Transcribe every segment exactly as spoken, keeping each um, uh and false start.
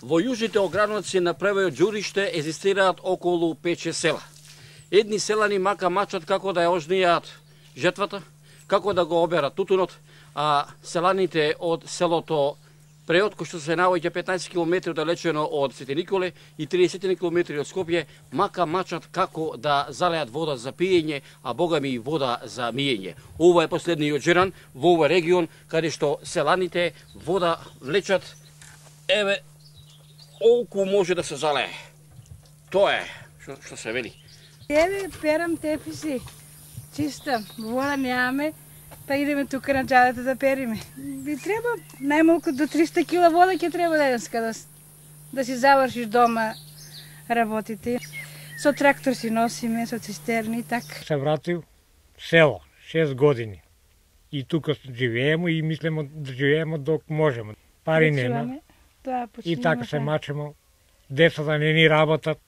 Во јужните ограници на превојот џуриште езистираат околу пет-шест села. Едни селани мака мачат како да ја ожнијат жетвата, како да го оберат тутунот, а селаните од селото Преот, кој што се наоѓа петнаесет километри далечено од Свети Николе и триесет километри од Скопје, мака мачат како да залеат вода за пиење, а богами и вода за миење. Ова е последниот жеран во овој регион, каде што селаните вода влечат, еве, олку може да се залее. Тоа е што, што се вели. Еве, перам теписи, чистам, вода немаме, па идеме тука на џадата да периме. Би треба најмалку до триста кила вода ќе треба денеска да, да си завршиш дома работите. Со трактор си носиме, со цистерни и така. Се вратил село, шест години. И тука живееме и мислиме да живееме док можеме. Пари нема. И така се мачемо. Децата не ни работат.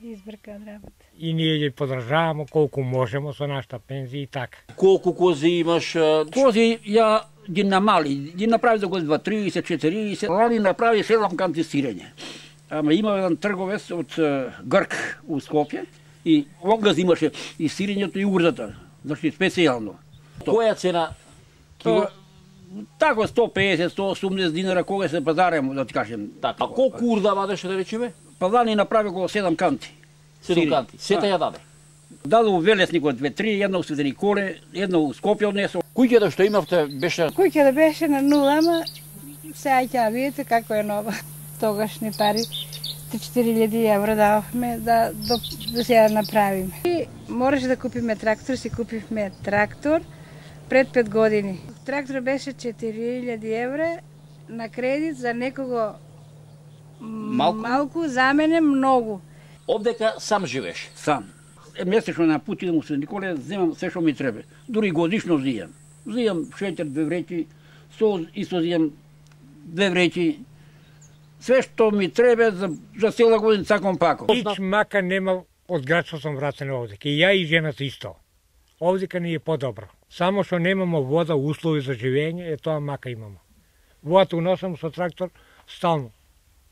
Избркаат работа. И ние ги подржаваме колку можеме со нашата пензија и така. Колку кози имаш? Кози ја ги намали, ги направи за година триесет четириесет, лани направи седам канти сирење. Ама има еден трговец од Грк у Скопје и огаз имаше и сирењето и урзата, значи специјално. Која цена кило? Тако сто педесет, сто осумдесет динара кога се пазаремо, да ти кажем. Така, а колку урда вадеше да речеме? Па лани направи околу седам канти. седам канти. Сета ја даде. Даде у Велесникот две-три, една у Свети Николе, една у Скопје однесо. Куќата што имавте беше? Куќата беше на нула, ама сега ќе видите како е нова. Тогашни пари, три-четири илјади евро дававме да, да, да се ја направиме. И можеше да купиме трактор, си купивме трактор пред пет години. Трактор беше четири илјади евра на кредит за некого малку, малку за мене многу. Обдека сам живееш? Сам. Месечно на пут идам у Свети Николе, земам се што ми треба. Дури годишно зијам. Зијам шеќер две вреќи, сол исто зијам две вреќи. Све што ми треба за, за цела година цаком пако. Ич мака нема од градство сум вратен овдека. И ја и жената исто. Овдека не е подобро. Само што немамо вода, услови за живење, е тоа мака имамо. Водата уносам со трактор стално.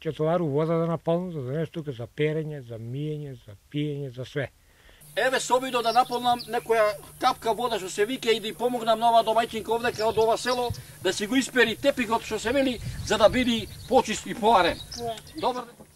Ќе товару вода да наполнам, за да донес тука за перење, за миење, за пиење, за све. Еве се обидов да наполнам некоја капка вода што се вика и да ја помогнам на оваа домаќинка овдека од ова село да си го испери тепикот што се вели за да биде почист и поарен. Добар ден.